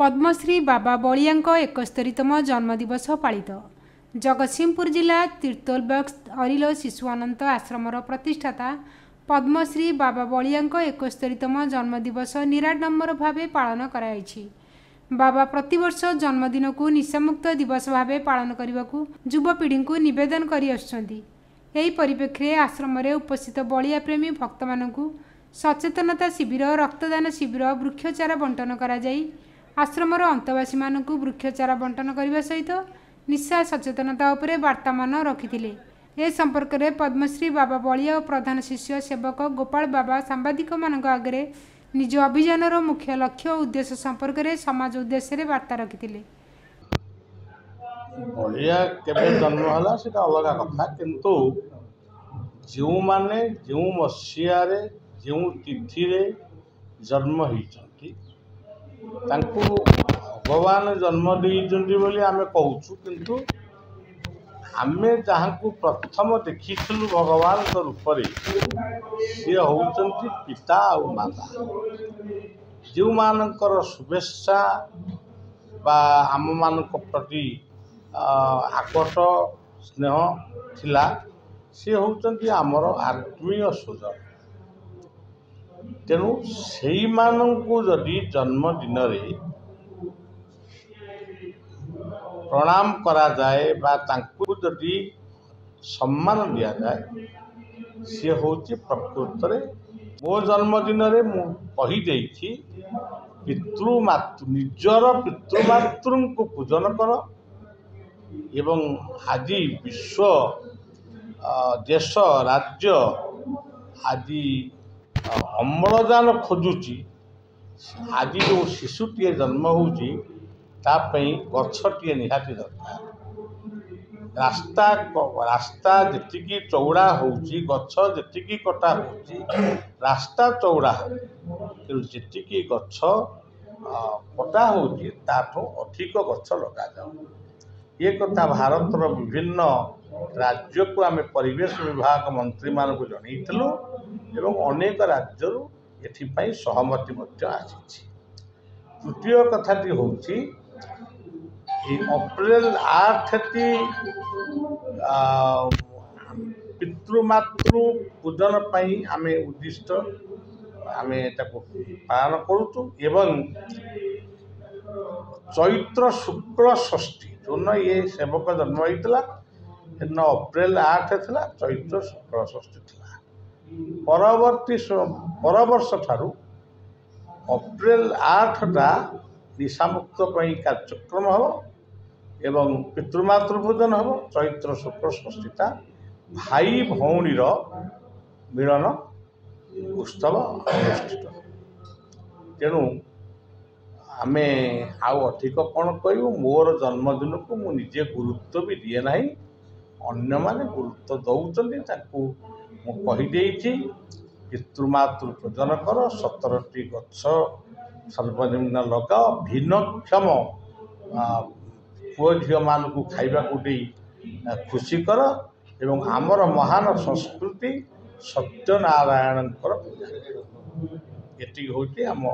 ପଦ୍ମଶ୍ରୀ ବାବା ବଳିଆଙ୍କ 71ତମ ଜନ୍ମଦିବସ ପାଳିତ। ଜଗତସିଂହପୁର ଜିଲ୍ଲା ତିର୍ତ୍ତୋଲ ବ୍ଲକ ଅରିଲୋ ଶିଶୁ ଅନନ୍ତ ଆଶ୍ରମର ପ୍ରତିଷ୍ଠାତା ପଦ୍ମଶ୍ରୀ ବାବା ବଳିଆଙ୍କ 71ତମ ଜନ୍ମଦିବସ ନିରାଡମ୍ବର ଭାବେ ପାଳନ କରାଯାଇଛି। ବାବା ପ୍ରତିବର୍ଷ ଜନ୍ମଦିନକୁ ନିଶାମୁକ୍ତ ଦିବସ ଭାବେ ପାଳନ କରିବାକୁ ଯୁବପିଢ଼ିଙ୍କୁ ନିବେଦନ କରିଆସୁଛନ୍ତି। ଏହି ପରିପ୍ରେକ୍ଷୀରେ ଆଶ୍ରମରେ ଉପସ୍ଥିତ ବଳିଆ ପ୍ରେମୀ ଭକ୍ତମାନଙ୍କୁ ସଚେତନତା ଶିବିର, ରକ୍ତଦାନ ଶିବିର, ବୃକ୍ଷଚାରା ବଣ୍ଟନ କରାଯାଇ ଆଶ୍ରମର ଅନ୍ତେବାସୀମାନଙ୍କୁ ବୃକ୍ଷଚାରା ବଣ୍ଟନ କରିବା ସହିତ ନିଶା ସଚେତନତା ଉପରେ ବାର୍ତ୍ତାମାନ ରଖିଥିଲେ। ଏ ସମ୍ପର୍କରେ ପଦ୍ମଶ୍ରୀ ବାବା ବଳିଆ ଓ ପ୍ରଧାନ ଶିଷ୍ୟ ସେବକ ଗୋପାଳ ବାବା ସାମ୍ବାଦିକମାନଙ୍କ ଆଗରେ ନିଜ ଅଭିଯାନର ମୁଖ୍ୟ ଲକ୍ଷ୍ୟ ଓ ଉଦ୍ଦେଶ୍ୟ ସମ୍ପର୍କରେ ସମାଜ ଉଦ୍ଦେଶ୍ୟରେ ବାର୍ତ୍ତା ରଖିଥିଲେ। ବଳିଆ କେବେ ଜନ୍ମ ହେଲା ସେଇଟା ଅଲଗା କଥା, କିନ୍ତୁ ଯେଉଁମାନେ ଯେଉଁ ମସିହାରେ ଯେଉଁ ତିଥିରେ ଜନ୍ମ ହେଇଛନ୍ତି ତାଙ୍କୁ ଭଗବାନ ଜନ୍ମ ଦେଇଛନ୍ତି ବୋଲି ଆମେ କହୁଛୁ। କିନ୍ତୁ ଆମେ ଯାହାଙ୍କୁ ପ୍ରଥମ ଦେଖିଥିଲୁ ଭଗବାନଙ୍କ ରୂପରେ, ସିଏ ହେଉଛନ୍ତି ପିତା ଆଉ ମାତା। ଯେଉଁମାନଙ୍କର ଶୁଭେଚ୍ଛା ବା ଆମମାନଙ୍କ ପ୍ରତି ଆକଟ ସ୍ନେହ ଥିଲା, ସିଏ ହେଉଛନ୍ତି ଆମର ଆତ୍ମୀୟ ସ୍ୱଜନ। ତେଣୁ ସେଇମାନଙ୍କୁ ଯଦି ଜନ୍ମଦିନରେ ପ୍ରଣାମ କରାଯାଏ ବା ତାଙ୍କୁ ଯଦି ସମ୍ମାନ ଦିଆଯାଏ, ସିଏ ହେଉଛି ପ୍ରକୃତରେ। ମୋ ଜନ୍ମଦିନରେ ମୁଁ କହିଦେଇଛି, ପିତୃମାତୃ ନିଜର ପିତୃମାତୃଙ୍କୁ ପୂଜନ କର। ଏବଂ ଆଜି ବିଶ୍ୱ, ଦେଶ, ରାଜ୍ୟ ଆଜି ଅମ୍ଳଜାନ ଖୋଜୁଛି। ଆଜି ଯେଉଁ ଶିଶୁଟିଏ ଜନ୍ମ ହେଉଛି, ତା ପାଇଁ ଗଛଟିଏ ନିହାତି ଦରକାର। ରାସ୍ତା ଯେତିକି ଚଉଡ଼ା ହେଉଛି, ଗଛ ଯେତିକି କଟା ହେଉଛି, ରାସ୍ତା ଚଉଡ଼ା ହେବ, କିନ୍ତୁ ଯେତିକି ଗଛ କଟା ହେଉଛି ତାଠୁ ଅଧିକ ଗଛ ଲଗାଯାଉ। ଏ କଥା ଭାରତର ବିଭିନ୍ନ ରାଜ୍ୟକୁ ଆମେ ପରିବେଶ ବିଭାଗ ମନ୍ତ୍ରୀମାନଙ୍କୁ ଜଣାଇଥିଲୁ ଏବଂ ଅନେକ ରାଜ୍ୟରୁ ଏଥିପାଇଁ ସହମତି ମଧ୍ୟ ଆସିଛି। ତୃତୀୟ କଥାଟି ହେଉଛି, ଏଇ ଅପ୍ରିଲ 8ଟି ପିତୃମାତୃ ପୂଜନ ପାଇଁ ଆମେ ଉଦ୍ଦିଷ୍ଟ, ଆମେ ତାକୁ ପାଳନ କରୁଛୁ। ଏବଂ ଚୈତ୍ର ଶୁକ୍ଳ ଷଷ୍ଠୀ ଯେଉଁଦିନ ଇଏ ସେବକ ଜନ୍ମ ହେଇଥିଲା, ସେଦିନ ଅପ୍ରିଲ 8 ଥିଲା, ଚୈତ୍ର ଶୁକ୍ଳ ଷଷ୍ଠୀ ଥିଲା। ପରବର୍ତ୍ତୀ ପରବର୍ଷ ଠାରୁ ଅପ୍ରିଲ 8ଟା ନିଶାମୁକ୍ତ ପାଇଁ କାର୍ଯ୍ୟକ୍ରମ ହେବ ଏବଂ ପିତୃମାତୃ ପୂଜନ ହେବ। ଚୈତ୍ର ଶୁକ୍ଳ ଷଷ୍ଠୀଟା ଭାଇ ଭଉଣୀର ମିଳନ ଉତ୍ସବ ଅନୁଷ୍ଠିତ। ତେଣୁ ଆମେ ଆଉ ଅଧିକ କ'ଣ କହିବୁ? ମୋର ଜନ୍ମଦିନକୁ ମୁଁ ନିଜେ ଗୁରୁତ୍ୱ ବି ଦିଏ ନାହିଁ, ଅନ୍ୟମାନେ ଗୁରୁତ୍ୱ ଦେଉଛନ୍ତି। ତାକୁ ମୁଁ କହିଦେଇଛି, ପିତୃମାତୃ ପୂଜନ କର, 17ଟି ଗଛ ସର୍ବନିମ୍ନ ଲଗାଅ, ଭିନ୍ନକ୍ଷମ ପୁଅ ଝିଅମାନଙ୍କୁ ଖାଇବାକୁ ଦେଇ ଖୁସି କର ଏବଂ ଆମର ମହାନ ସଂସ୍କୃତି ସତ୍ୟନାରାୟଣଙ୍କର ପୂଜା। ଏତିକି ହେଉଛି ଆମ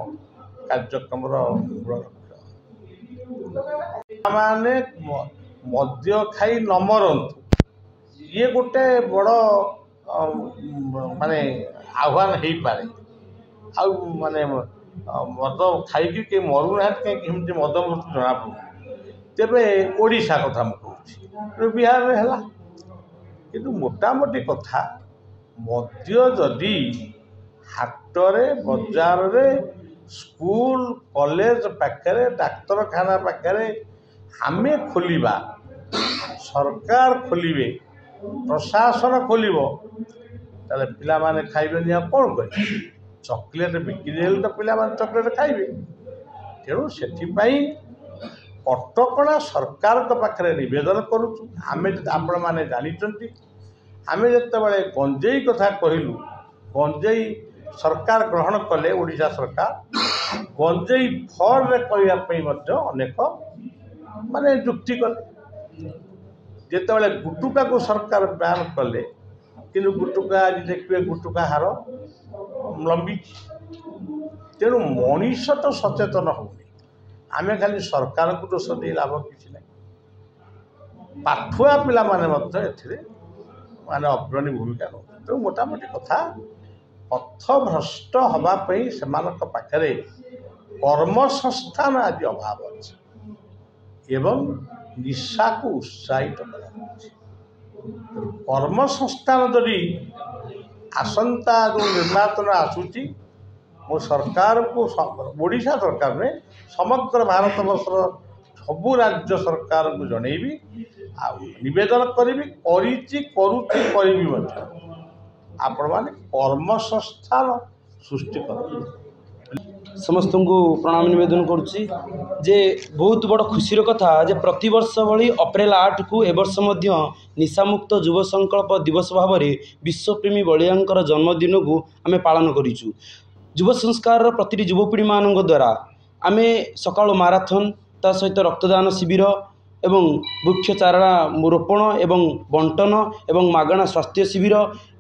କାର୍ଯ୍ୟକ୍ରମର ମୂଳ ଲକ୍ଷ୍ୟ। ମାନେ ମଦ୍ୟ ଖାଇ ନ ମରନ୍ତୁ, ଇଏ ଗୋଟେ ବଡ଼ ମାନେ ଆହ୍ୱାନ ହେଇପାରେ। ଆଉ ମାନେ ମଦ ଖାଇକି କେହି ମରୁନାହାନ୍ତି କାହିଁକି? ଏମିତି ମଦ ମୃତ୍ୟୁ ଜଣାପଡ଼ୁନି। ତେବେ ଓଡ଼ିଶା କଥା ମୁଁ କହୁଛି, ବିହାରରେ ହେଲା। କିନ୍ତୁ ମୋଟାମୋଟି କଥା, ମଦ୍ୟ ଯଦି ହାଟରେ, ବଜାରରେ, ସ୍କୁଲ କଲେଜ ପାଖରେ, ଡାକ୍ତରଖାନା ପାଖରେ ଆମେ ଖୋଲିବା, ସରକାର ଖୋଲିବେ, ପ୍ରଶାସନ ଖୋଲିବ, ତାହେଲେ ପିଲାମାନେ ଖାଇବେନି ଆଉ କ'ଣ କରିବେ? ଚକୋଲେଟ୍ ବିକ୍ରି ହେଲେ ତ ପିଲାମାନେ ଚକୋଲେଟ୍ ଖାଇବେ। ତେଣୁ ସେଥିପାଇଁ କଟକଣା ସରକାରଙ୍କ ପାଖରେ ନିବେଦନ କରୁଛୁ ଆମେ। ଆପଣମାନେ ଜାଣିଛନ୍ତି, ଆମେ ଯେତେବେଳେ ଗଞ୍ଜେଇ କଥା କହିଲୁ, ଗଞ୍ଜେଇ ସରକାର ଗ୍ରହଣ କଲେ, ଓଡ଼ିଶା ସରକାର ଗଞ୍ଜେଇ ଫର୍ରେ କରିବା ପାଇଁ ମଧ୍ୟ ଅନେକ ମାନେ ଯୁକ୍ତି କଲେ। ଯେତେବେଳେ ଗୁଟୁକାକୁ ସରକାର ବ୍ୟାନ୍ କଲେ, କିନ୍ତୁ ଗୁଟୁକା ଆଜି ଦେଖିବେ ଗୁଟୁକା ହାର ଲମ୍ବିଛି। ତେଣୁ ମଣିଷ ତ ସଚେତନ ହେଉନି, ଆମେ ଖାଲି ସରକାରଙ୍କୁ ଦୋଷ ଦେଇ ଲାଭ କିଛି ନାହିଁ। ପାଠୁଆ ପିଲାମାନେ ମଧ୍ୟ ଏଥିରେ ମାନେ ଅଗ୍ରଣୀ ଭୂମିକା ନେଉଛନ୍ତି। ତେଣୁ ମୋଟାମୋଟି କଥା, ପଥଭ୍ରଷ୍ଟ ହେବା ପାଇଁ ସେମାନଙ୍କ ପାଖରେ କର୍ମସଂସ୍ଥାନ ଆଜି ଅଭାବ ଅଛି ଏବଂ ନିଶାକୁ ଉତ୍ସାହିତ କରାଯାଉଛି। ତେଣୁ କର୍ମସଂସ୍ଥାନ ଯଦି ଆସନ୍ତା ଯେଉଁ ନିର୍ବାଚନ ଆସୁଛି, ମୁଁ ସରକାରକୁ, ଓଡ଼ିଶା ସରକାର ନୁହେଁ, ସମଗ୍ର ଭାରତବର୍ଷର ସବୁ ରାଜ୍ୟ ସରକାରଙ୍କୁ ଜଣେଇବି ଆଉ ନିବେଦନ କରିବି, କରିଛି, କରୁଛି, କରିବି ମଧ୍ୟ, ଆପଣମାନେ କର୍ମସଂସ୍ଥାନ ସୃଷ୍ଟି କରନ୍ତୁ। ସମସ୍ତଙ୍କୁ ପ୍ରଣାମ ନିବେଦନ କରୁଛି ଯେ ବହୁତ ବଡ଼ ଖୁସିର କଥା ଯେ ପ୍ରତିବର୍ଷ ଭଳି ଅପ୍ରିଲ 8କୁ ଏ ବର୍ଷ ମଧ୍ୟ ନିଶାମୁକ୍ତ ଯୁବ ସଂକଳ୍ପ ଦିବସ ଭାବରେ ବିଶ୍ୱପ୍ରେମୀ ବଳିଆଙ୍କର ଜନ୍ମଦିନକୁ ଆମେ ପାଳନ କରିଛୁ। ଯୁବ ସଂସ୍କାରର ପ୍ରତିଟି ଯୁବପିଢ଼ିମାନଙ୍କ ଦ୍ୱାରା ଆମେ ସକାଳୁ ମାରାଥନ୍, ତା ସହିତ ରକ୍ତଦାନ ଶିବିର ଏବଂ ବୃକ୍ଷ ଚାରା ରୋପଣ ଏବଂ ବଣ୍ଟନ ଏବଂ ମାଗଣା ସ୍ୱାସ୍ଥ୍ୟ ଶିବିର,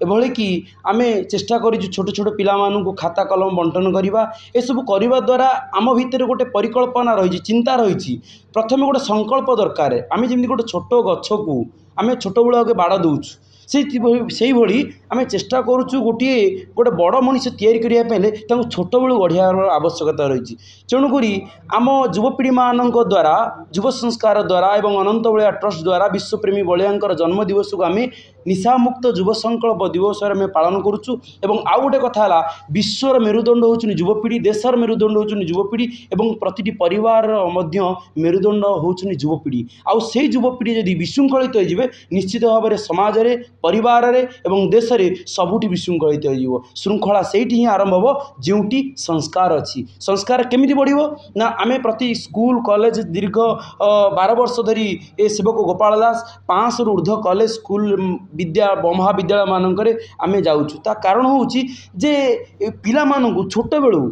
ଏଭଳିକି ଆମେ ଚେଷ୍ଟା କରିଛୁ ଛୋଟ ଛୋଟ ପିଲାମାନଙ୍କୁ ଖାତା କଲମ ବଣ୍ଟନ କରିବା। ଏସବୁ କରିବା ଦ୍ୱାରା ଆମ ଭିତରେ ଗୋଟେ ପରିକଳ୍ପନା ରହିଛି, ଚିନ୍ତା ରହିଛି। ପ୍ରଥମେ ଗୋଟେ ସଂକଳ୍ପ ଦରକାର। ଆମେ ଯେମିତି ଗୋଟେ ଛୋଟ ଗଛକୁ ଆମେ ଛୋଟବେଳୁ ଆଗେ ବାଡ଼ ଦେଉଛୁ, ସେଇଭଳି ଆମେ ଚେଷ୍ଟା କରୁଛୁ ଗୋଟିଏ ଗୋଟେ ବଡ଼ ମଣିଷ ତିଆରି କରିବା ପାଇଁ ହେଲେ ତାଙ୍କୁ ଛୋଟବେଳୁ ଗଢ଼ିବାର ଆବଶ୍ୟକତା ରହିଛି। ତେଣୁକରି ଆମ ଯୁବପିଢ଼ିମାନଙ୍କ ଦ୍ୱାରା, ଯୁବ ସଂସ୍କାର ଦ୍ୱାରା ଏବଂ ଅନନ୍ତ ବଳିଆ ଟ୍ରଷ୍ଟ ଦ୍ୱାରା ବିଶ୍ୱପ୍ରେମୀ ବଳିଆଙ୍କର ଜନ୍ମଦିବସକୁ ଆମେ ନିଶାମୁକ୍ତ ଯୁବ ସଂକଳ୍ପ ଦିବସରେ ଆମେ ପାଳନ କରୁଛୁ। ଏବଂ ଆଉ ଗୋଟେ କଥା ହେଲା, ବିଶ୍ୱର ମେରୁଦଣ୍ଡ ହେଉଛନ୍ତି ଯୁବପିଢ଼ି, ଦେଶର ମେରୁଦଣ୍ଡ ହେଉଛନ୍ତି ଯୁବପିଢ଼ି ଏବଂ ପ୍ରତିଟି ପରିବାରର ମଧ୍ୟ ମେରୁଦଣ୍ଡ ହେଉଛନ୍ତି ଯୁବପିଢ଼ି। ଆଉ ସେଇ ଯୁବପିଢ଼ି ଯଦି ବିଶୃଙ୍ଖଳିତ ହେଇଯିବେ, ନିଶ୍ଚିତ ଭାବରେ ସମାଜରେ, ପରିବାରରେ ଏବଂ ଦେଶରେ ସବୁଠି ବିଶୃଙ୍ଖଳିତ ହେଇଯିବ। ଶୃଙ୍ଖଳା ସେଇଠି ହିଁ ଆରମ୍ଭ ହେବ ଯେଉଁଠି ସଂସ୍କାର ଅଛି। ସଂସ୍କାର କେମିତି ବଢ଼ିବ ନା ଆମେ ପ୍ରତି ସ୍କୁଲ କଲେଜ ଦୀର୍ଘ 12 ବର୍ଷ ଧରି ଏ ସେବକ ଗୋପାଳ ଦାସ 500ରୁ ଉର୍ଦ୍ଧ୍ୱ କଲେଜ, ସ୍କୁଲ, ବିଦ୍ୟା ମହାବିଦ୍ୟାଳୟମାନଙ୍କରେ ଆମେ ଯାଉଛୁ। ତା କାରଣ ହେଉଛି ଯେ ପିଲାମାନଙ୍କୁ ଛୋଟବେଳୁ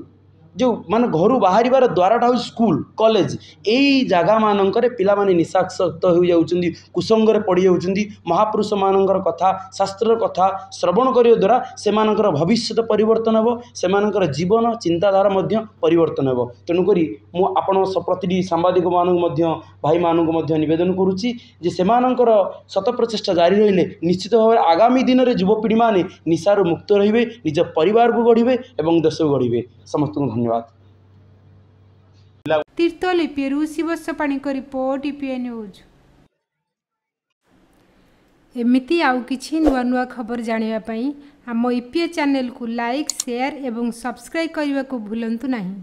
ଯେଉଁ ମାନେ ଘରୁ ବାହାରିବାର ଦ୍ୱାରଟା ହେଉଛି ସ୍କୁଲ କଲେଜ, ଏଇ ଜାଗାମାନଙ୍କରେ ପିଲାମାନେ ନିଶାସକ୍ତ ହୋଇଯାଉଛନ୍ତି, କୁସଙ୍ଗରେ ପଡ଼ିଯାଉଛନ୍ତି। ମହାପୁରୁଷମାନଙ୍କର କଥା, ଶାସ୍ତ୍ରର କଥା ଶ୍ରବଣ କରିବା ଦ୍ୱାରା ସେମାନଙ୍କର ଭବିଷ୍ୟତ ପରିବର୍ତ୍ତନ ହେବ, ସେମାନଙ୍କର ଜୀବନ ଚିନ୍ତାଧାରା ମଧ୍ୟ ପରିବର୍ତ୍ତନ ହେବ। ତେଣୁକରି ମୁଁ ଆପଣ ପ୍ରତିଟି ସାମ୍ବାଦିକମାନଙ୍କୁ ମଧ୍ୟ, ଭାଇମାନଙ୍କୁ ମଧ୍ୟ ନିବେଦନ କରୁଛି ଯେ ସେମାନଙ୍କର ଶତ ପ୍ରଚେଷ୍ଟା ଜାରି ରହିଲେ ନିଶ୍ଚିତ ଭାବରେ ଆଗାମୀ ଦିନରେ ଯୁବପିଢ଼ିମାନେ ନିଶାରୁ ମୁକ୍ତ ରହିବେ, ନିଜ ପରିବାରକୁ ଗଢ଼ିବେ ଏବଂ ଦେଶକୁ ଗଢ଼ିବେ। ସମସ୍ତଙ୍କୁ ଧନ୍ୟବାଦ। ତିର୍ତ୍ତୋଲ ଇପିଏରୁ ଶିବସ୍ୟ ପାଣିଙ୍କ ରିପୋର୍ଟ, ଇପିଏ ନ୍ୟୁଜ୍। ଏମିତି ଆଉ କିଛି ନୂଆ ନୂଆ ଖବର ଜାଣିବା ପାଇଁ ଆମ ଇପିଏ ଚ୍ୟାନେଲକୁ ଲାଇକ୍, ସେୟାର ଏବଂ ସବସ୍କ୍ରାଇବ୍ କରିବାକୁ ଭୁଲନ୍ତୁ ନାହିଁ।